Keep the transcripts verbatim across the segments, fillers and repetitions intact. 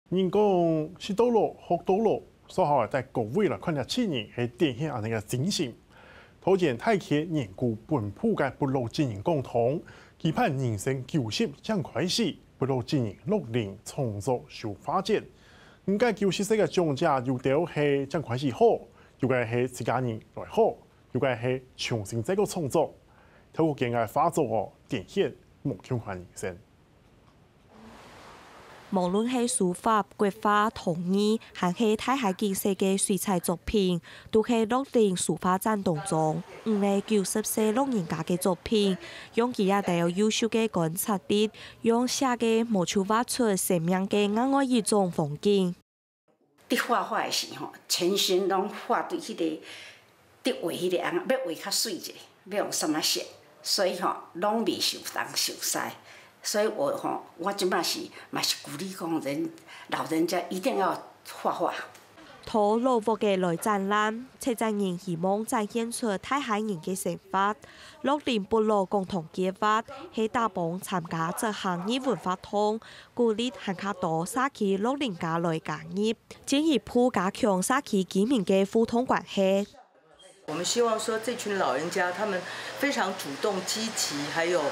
人講食到老，學到老，所以在各位來看這七人係展現恁樣个精神。桃園大溪年古本埔个部落精英講堂，期盼人生九十正開始，部落精英樂齡創作手畫展。毋過九十歲个長者有兜係正開始好，有个係自家人來好，有个係重新再過創作。透過佢个畫作哦，展現無共款人生。 無論係書法、國畫、陶藝，還係大溪景色个水彩作品，都係樂齡書畫展當中五个九十歲老人家个作品，用佢這兜優秀个觀察力，用寫个無就畫出生命个另外一種風景。 佇畫畫的時吼，全身攏畫對迄个，佇畫迄个啊，欲畫較媠一个，欲用啥物色，所以吼，攏袂受東受西。所以我吼，我即擺是嘛是鼓勵講人，老人家一定要畫畫。到老屋个來展覽，策展人希望展現出大溪人个生活。樂齡部落共同計畫係打幫參加執行義務活動，鼓勵還較多社區老人家來加入，進一步加強社區居民个互動關係。 我们希望说，这群老人家他们非常主动积极，还有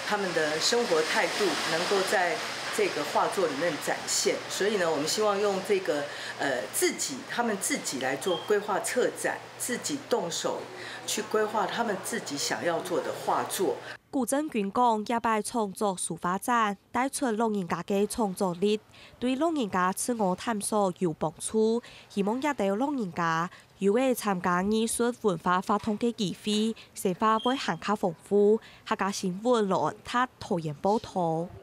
他们的生活态度能够在这个画作里面展现。所以呢，我们希望用这个呃自己，他们自己来做规划策展，自己动手去规划他们自己想要做的画作。古正軍講，這擺創作書畫展帶出老人家个創作力，對老人家自我探索有幫助。希望這兜老人家 有个參加藝術文化活動个機會，生活會還較豐富。客家新聞羅安達桃園報導。